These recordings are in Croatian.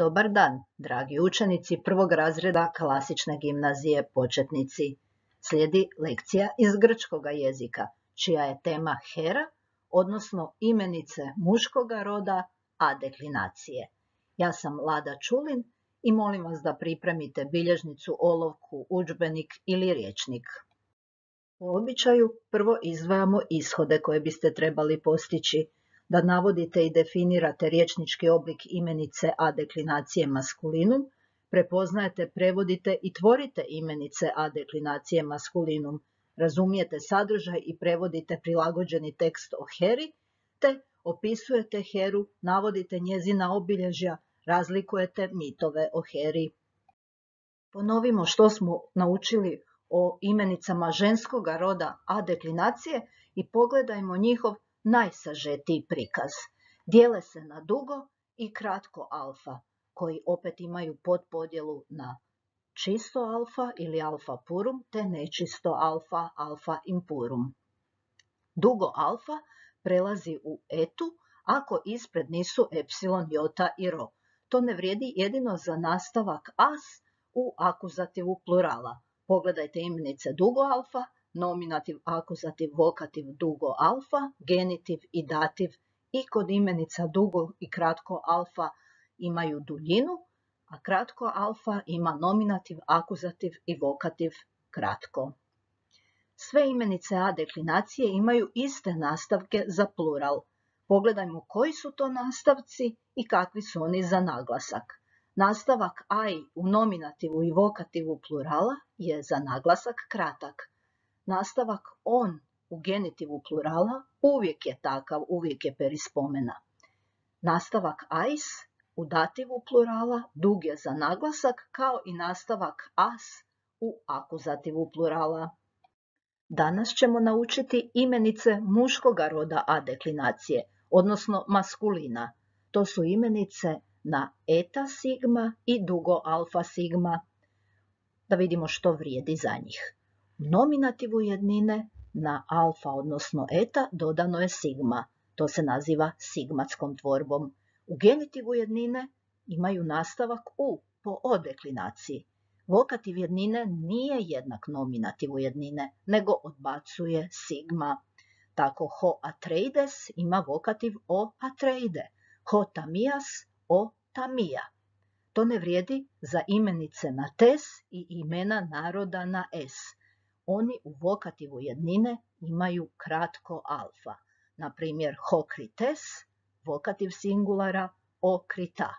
Dobar dan, dragi učenici prvog razreda klasične gimnazije početnici. Slijedi lekcija iz grčkoga jezika, čija je tema Hera, odnosno imenice muškoga roda, a deklinacije. Ja sam Lada Čulin i molim vas da pripremite bilježnicu, olovku, udžbenik ili rječnik. Po običaju prvo izdvajamo ishode koje biste trebali postići, da navodite i definirate rječnički oblik imenice a deklinacije maskulinum, prepoznajete, prevodite i tvorite imenice a deklinacije maskulinum, razumijete sadržaj i prevodite prilagođeni tekst o Heri, te opisujete Heru, navodite njezina obilježja, razlikujete mitove o Heri. Ponovimo što smo naučili o imenicama ženskoga roda a deklinacije i pogledajmo njihov najsažetiji prikaz. Dijele se na dugo i kratko alfa, koji opet imaju podpodjelu na čisto alfa ili alfa purum, te nečisto alfa, alfa impurum. Dugo alfa prelazi u etu ako ispred nisu epsilon, jota i ro. To ne vrijedi jedino za nastavak as u akuzativu plurala. Pogledajte imenice dugo alfa, nominativ, akuzativ, vokativ, dugo alfa, genitiv i dativ i kod imenica dugo i kratko alfa imaju duljinu, a kratko alfa ima nominativ, akuzativ i vokativ kratko. Sve imenice a deklinacije imaju iste nastavke za plural. Pogledajmo koji su to nastavci i kakvi su oni za naglasak. Nastavak aj u nominativu i vokativu plurala je za naglasak kratak. Nastavak on u genitivu plurala uvijek je takav, uvijek je perispomena. Nastavak ais u dativu plurala dug je za naglasak, kao i nastavak as u akuzativu plurala. Danas ćemo naučiti imenice muškoga roda a deklinacije, odnosno maskulina. To su imenice na eta sigma i dugo alfa sigma. Da vidimo što vrijedi za njih. U nominativu jednine na alfa, odnosno eta, dodano je sigma. To se naziva sigmatskom tvorbom. U genitivu jednine imaju nastavak u po o deklinaciji. Vokativ jednine nije jednak nominativu jednine, nego odbacuje sigma. Tako ho atreides ima vokativ o atreide, ho tamias o tamija. To ne vrijedi za imenice na tes i imena naroda na es. Oni u vokativu jednine imaju kratko alfa. Na primjer, hokrites, vokativ singulara, okrita.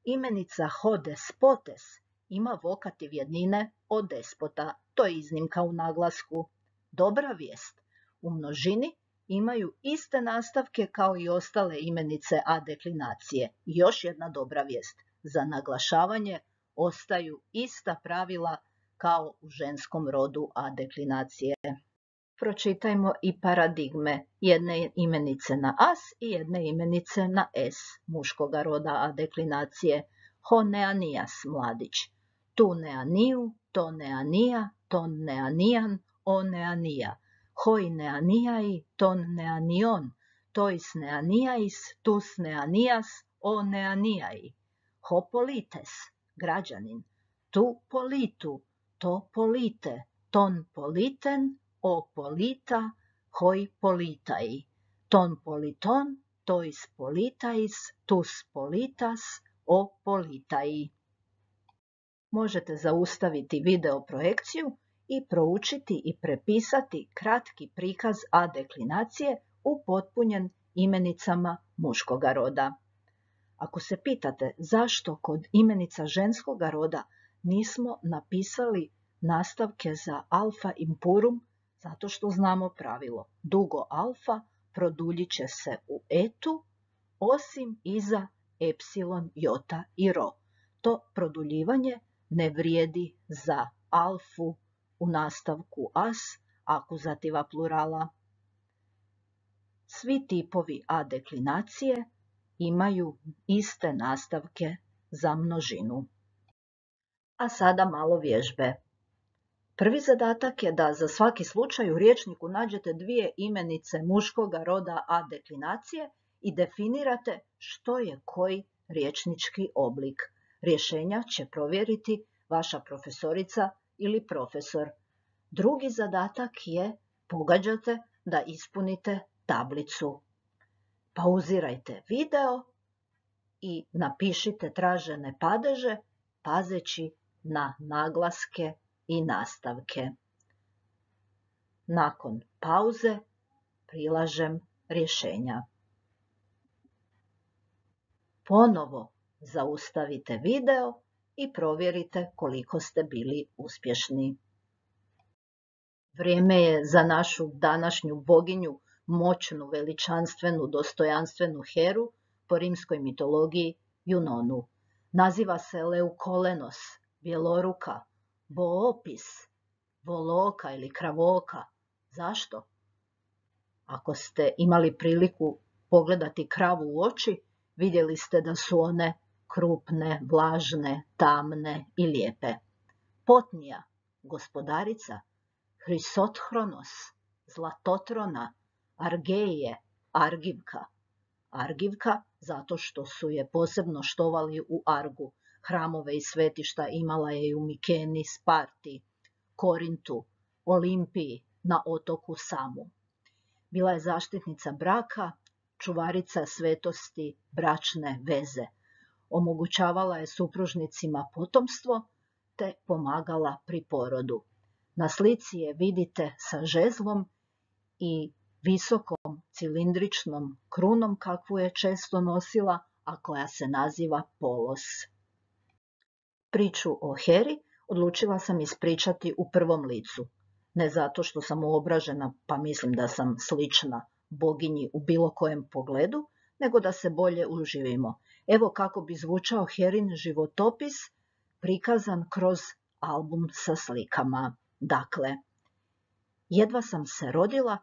Imenica ho despotes ima vokativ jednine o despota. To je iznimka u naglasku. Dobra vijest. U množini imaju iste nastavke kao i ostale imenice a deklinacije. I još jedna dobra vijest. Za naglašavanje ostaju ista pravila kao u ženskom rodu a deklinacije. Pročitajmo i paradigme, jedne imenice na as i jedne imenice na es, muškoga roda a deklinacije. Ho neanijas, mladić. Tu neaniju, to neanija, ton neanijan, o neanija. Hoi neanijai, ton neanion, tois neanijais, tus neanijas, o neanijai. Ho polites, građanin. Tu politu, to polite, ton politen, o polita, hoi politai. Ton politon, tois politais, tus politas, o politai. Možete zaustaviti video projekciju i proučiti i prepisati kratki prikaz a deklinacije upotpunjen imenicama muškoga roda. Ako se pitate zašto kod imenica ženskoga roda nismo napisali nastavke za alfa impurum, zato što znamo pravilo. Dugo alfa produljit će se u etu, osim iza epsilon, jota i ro. To produljivanje ne vrijedi za alfu u nastavku as, akuzativa plurala. Svi tipovi a deklinacije imaju iste nastavke za množinu. A sada malo vježbe. Prvi zadatak je da za svaki slučaj u rječniku nađete dvije imenice muškoga roda a deklinacije i definirate što je koji riječnički oblik. Rješenja će provjeriti vaša profesorica ili profesor. Drugi zadatak je pogađate da ispunite tablicu. Pauzirajte video i napišite tražene padeže pazeći na naglaske i nastavke. Nakon pauze prilažem rješenja. Ponovo zaustavite video i provjerite koliko ste bili uspješni. Vrijeme je za našu današnju boginju, moćnu, veličanstvenu, dostojanstvenu Heru, po rimskoj mitologiji Junonu. Naziva se Leukolenos, bjeloruka, Boopis, voloka ili kravoka. Zašto? Ako ste imali priliku pogledati kravu u oči, vidjeli ste da su one krupne, vlažne, tamne i lijepe. Potnija, gospodarica, Hrisothronos, zlatotrona, Argeije, Argivka. Argivka zato što su je posebno štovali u Argu. Hramove i svetišta imala je i u Mikeni, Sparti, Korintu, Olimpiji, na otoku Samu. Bila je zaštitnica braka, čuvarica svetosti bračne veze. Omogućavala je supružnicima potomstvo te pomagala pri porodu. Na slici je vidite sa žezlom i visokom cilindričnom krunom kakvu je često nosila, a koja se naziva polos. Priču o Heri odlučila sam ispričati u prvom licu. Ne zato što sam uobražena pa mislim da sam slična boginji u bilo kojem pogledu, nego da se bolje uživimo. Evo kako bi zvučao Herin životopis prikazan kroz album sa slikama. Dakle, jedva sam se rodila,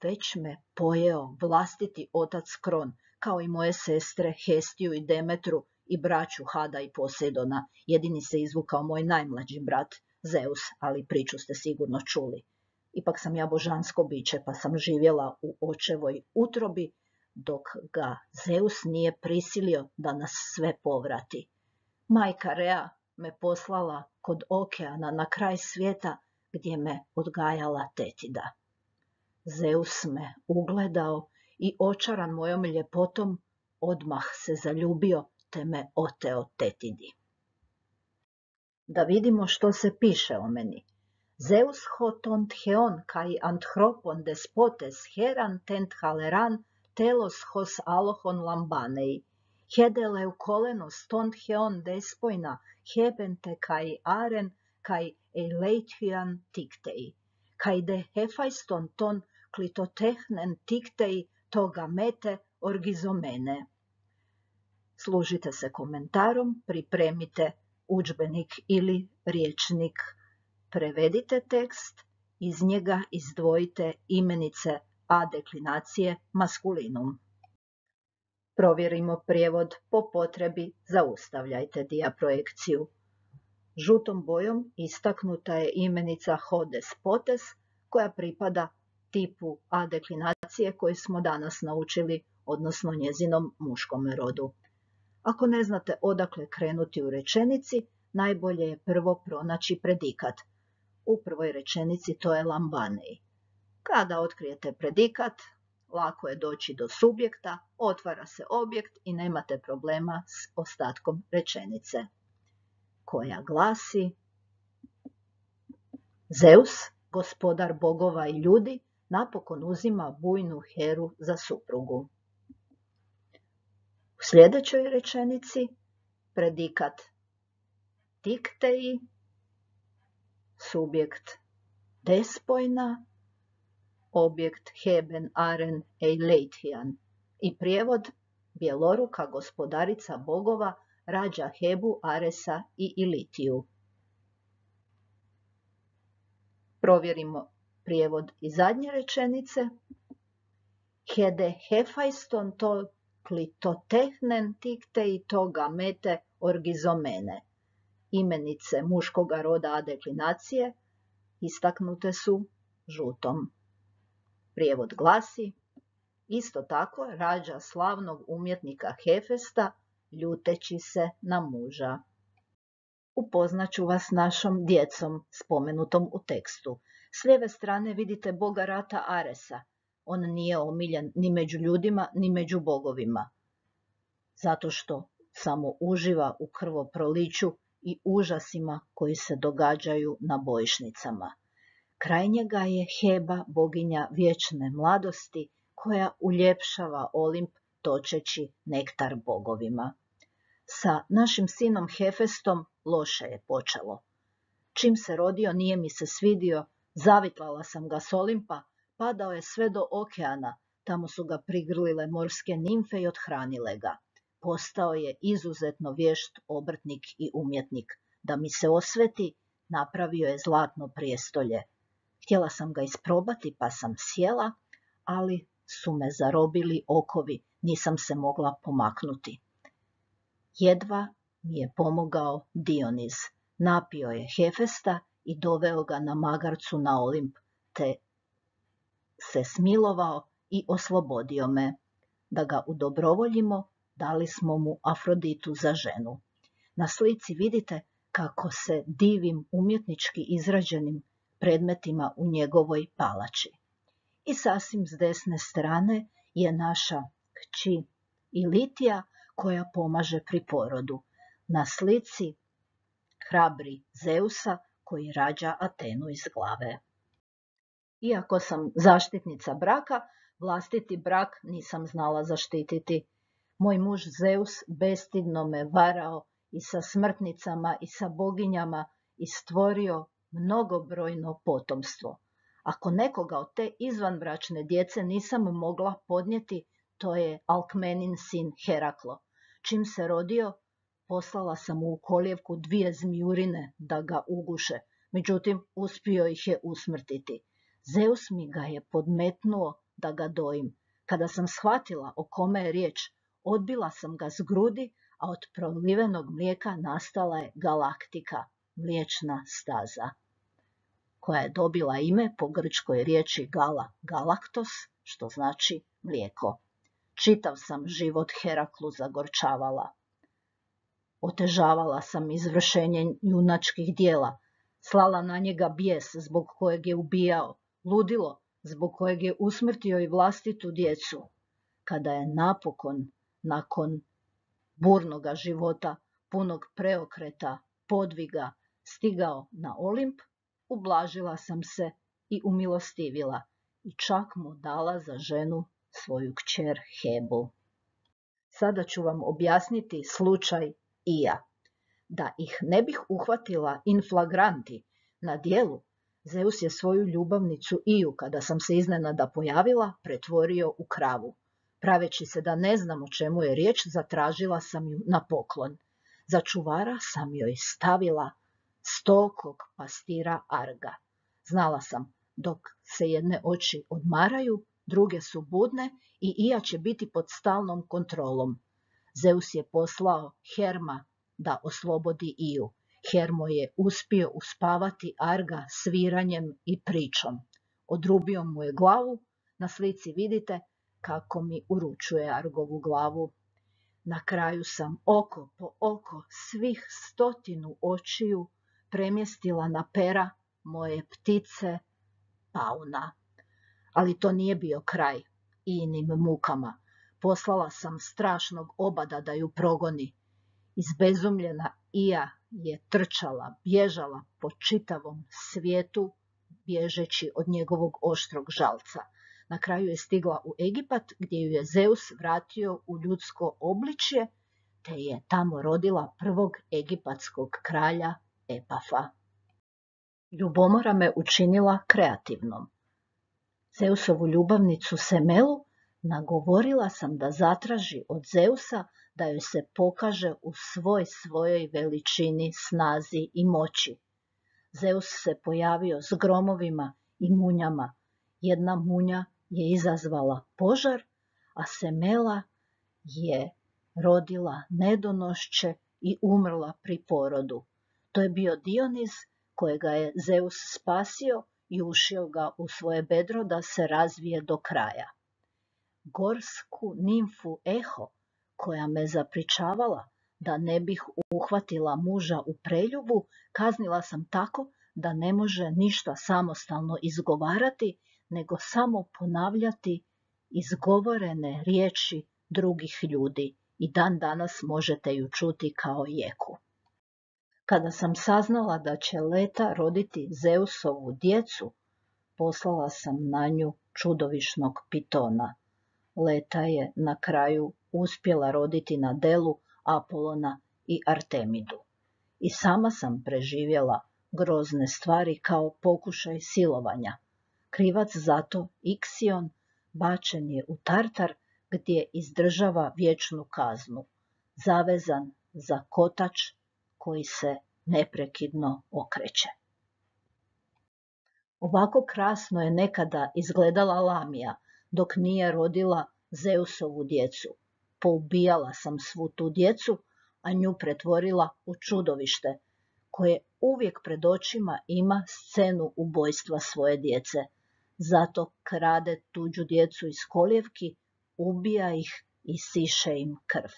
već me pojeo vlastiti otac Kron, kao i moje sestre Hestiju i Demetru i braću Hada i Posejdona. Jedini se izvukao moj najmlađi brat Zeus, ali priču ste sigurno čuli. Ipak sam ja božansko biće, pa sam živjela u očevoj utrobi, dok ga Zeus nije prisilio da nas sve povrati. Majka Rea me poslala kod okeana na kraj svijeta, gdje me odgajala tetida. Zeus me ugledao i očaran mojom ljepotom odmah se zaljubio te me oteo tetidi. Da vidimo što se piše o meni. Zeus hotont heon kai anthropon despotes heran tent haleran telos hos alohon lambanei. Hede leukolenos tont heon despoina hebente kai aren kai eleithian tiktei. Kai de hefaiston ton klitotehnen tiktei toga mete orgizomene. Služite se komentarom, pripremite udžbenik ili rječnik. Prevedite tekst, iz njega izdvojite imenice a deklinacije maskulinum. Provjerimo prijevod po potrebi, zaustavljajte dijaprojekciju. Žutom bojom istaknuta je imenica hodes potes, koja pripada tipu a deklinacije koje smo danas naučili, odnosno njezinom muškom rodu. Ako ne znate odakle krenuti u rečenici, najbolje je prvo pronaći predikat. U prvoj rečenici to je lambanei. Kada otkrijete predikat, lako je doći do subjekta, otvara se objekt i nemate problema s ostatkom rečenice, koja glasi: Zeus, gospodar bogova i ljudi, napokon uzima bujnu Heru za suprugu. U sljedećoj rečenici predikat tiktei, subjekt despoina, objekt heben aren eileithian i prijevod: bjeloruka gospodarica bogova rađa Hebu, Aresa i Ilitiju. Provjerimo prijevod iz zadnje rečenice. Hede hefaiston to klitotehnen tiktei toga mete orgizomene. Imenice muškoga roda a deklinacije istaknute su žutom. Prijevod glasi: isto tako rađa slavnog umjetnika Hefesta ljuteći se na muža. Upoznat ću vas našom djecom, spomenutom u tekstu. S lijeve strane vidite boga rata Aresa. On nije omiljen ni među ljudima, ni među bogovima, zato što samo uživa u krvoproliću i užasima koji se događaju na bojišnicama. Kraj njega je Heba, boginja vječne mladosti, koja uljepšava Olimp točeći nektar bogovima. Sa našim sinom Hefestom loše je počelo. Čim se rodio nije mi se svidio, zavitlala sam ga s Olimpa, padao je sve do okeana, tamo su ga prigrlile morske nimfe i othranile ga. Postao je izuzetno vješt obrtnik i umjetnik. Da mi se osveti, napravio je zlatno prijestolje. Htjela sam ga isprobati pa sam sjela, ali su me zarobili okovi, nisam se mogla pomaknuti. Jedva mi je pomogao Dioniz. Napio je Hefesta i doveo ga na magarcu na Olimp, te se smilovao i oslobodio me. Da ga udobrovoljimo, dali smo mu Afroditu za ženu. Na slici vidite kako se divim umjetnički izrađenim predmetima u njegovoj palači. I sasvim s desne strane je naša kći Ilitija, koja pomaže pri porodu. Na slici hrabri Zeusa koji rađa Atenu iz glave. Iako sam zaštitnica braka, vlastiti brak nisam znala zaštititi. Moj muž Zeus bestidno me varao i sa smrtnicama i sa boginjama i stvorio mnogobrojno potomstvo. Ako nekoga od te izvanbračne djece nisam mogla podnijeti, to je Alkmenin sin Heraklo. Čim se rodio, poslala sam mu u kolijevku 2 zmijurine da ga uguše, međutim uspio ih je usmrtiti. Zeus mi ga je podmetnuo da ga dojim. Kada sam shvatila o kome je riječ, odbila sam ga s grudi, a od prolivenog mlijeka nastala je galaktika, mliječna staza, koja je dobila ime po grčkoj riječi gala, galaktos, što znači mlijeko. Čitav sam život Heraklu zagorčavala. Otežavala sam izvršenje junačkih dijela, slala na njega bijes zbog kojeg je ubijao, ludilo zbog kojeg je usmrtio i vlastitu djecu. Kada je napokon, nakon burnoga života, punog preokreta, podviga, stigao na Olimp, ublažila sam se i umilostivila i čak mu dala za ženu svoju kćer Hebu. Sada ću vam objasniti slučaj Ija. Da ih ne bih uhvatila in flagranti na djelu, Zeus je svoju ljubavnicu Iju, kada sam se iznenada pojavila, pretvorio u kravu. Praveći se da ne znam o čemu je riječ, zatražila sam ju na poklon. Za čuvara sam joj stavila stokog pastira Arga. Znala sam, dok se jedne oči odmaraju, druge su budne i Ija će biti pod stalnom kontrolom. Zeus je poslao Herma da oslobodi Iju. Hermo je uspio uspavati Arga sviranjem i pričom. Odrubio mu je glavu, na slici vidite kako mi uručuje Argovu glavu. Na kraju sam oko po oko svih 100 očiju premjestila na pera moje ptice Pauna. Ali to nije bio kraj Ijinim mukama. Poslala sam strašnog obada da ju progoni. Izbezumljena Ija je trčala, bježala po čitavom svijetu, bježeći od njegovog oštrog žalca. Na kraju je stigla u Egipat, gdje ju je Zeus vratio u ljudsko obličje, te je tamo rodila prvog egipatskog kralja Epafa. Ljubomora me učinila kreativnom. Zeusovu ljubavnicu Semelu nagovorila sam da zatraži od Zeusa da joj se pokaže u svojoj veličini, snazi i moći. Zeus se pojavio s gromovima i munjama. Jedna munja je izazvala požar, a Semela je rodila nedonošće i umrla pri porodu. To je bio Dioniz kojega je Zeus spasio i ušio ga u svoje bedro da se razvije do kraja. Gorsku nimfu Eho, koja me zapričavala da ne bih uhvatila muža u preljubu, kaznila sam tako da ne može ništa samostalno izgovarati, nego samo ponavljati izgovorene riječi drugih ljudi i dan danas možete ju čuti kao jeku. Kada sam saznala da će Leta roditi Zeusovu djecu, poslala sam na nju čudovišnog pitona. Leta je na kraju uspjela roditi na delu Apolona i Artemidu. I sama sam preživjela grozne stvari kao pokušaj silovanja. Krivac za to, Iksion, bačen je u Tartar gdje izdržava vječnu kaznu, zavezan za kotač koji se neprekidno okreće. Ovako krasno je nekada izgledala Lamija dok nije rodila Zeusovu djecu. Poubijala sam svu tu djecu, a nju pretvorila u čudovište, koje uvijek pred očima ima scenu ubojstva svoje djece. Zato krade tuđu djecu iz kolijevki, ubija ih i siše im krv.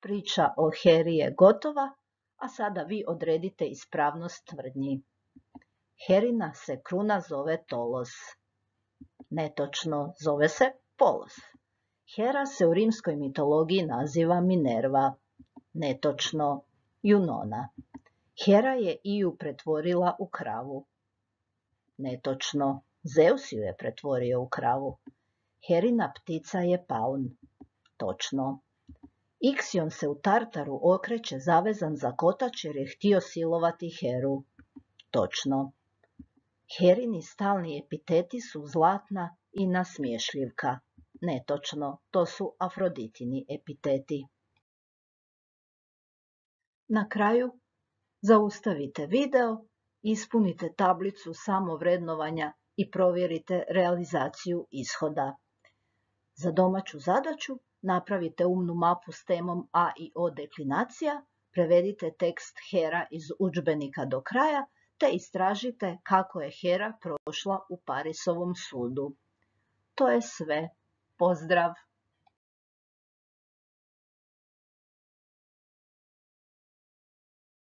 Priča o Heri je gotova, a sada vi odredite ispravnost tvrdnji. Herina se kruna zove Tolos. Netočno, zove se Polos. Hera se u rimskoj mitologiji naziva Minerva. Netočno, Junona. Hera je Iju pretvorila u kravu. Netočno, Zeus ju je pretvorio u kravu. Herina ptica je paun. Točno. Iksion se u Tartaru okreće zavezan za kotač jer je htio silovati Heru. Točno. Herini stalni epiteti su zlatna i nasmiješljivka. Netočno, to su Afroditini epiteti. Na kraju zaustavite video, ispunite tablicu samovrednovanja i provjerite realizaciju ishoda. Za domaću zadaću napravite umnu mapu s temom A i O deklinacija, prevedite tekst Hera iz udžbenika do kraja, te istražite kako je Hera prošla u Parisovom sudu. To je sve. Pozdrav!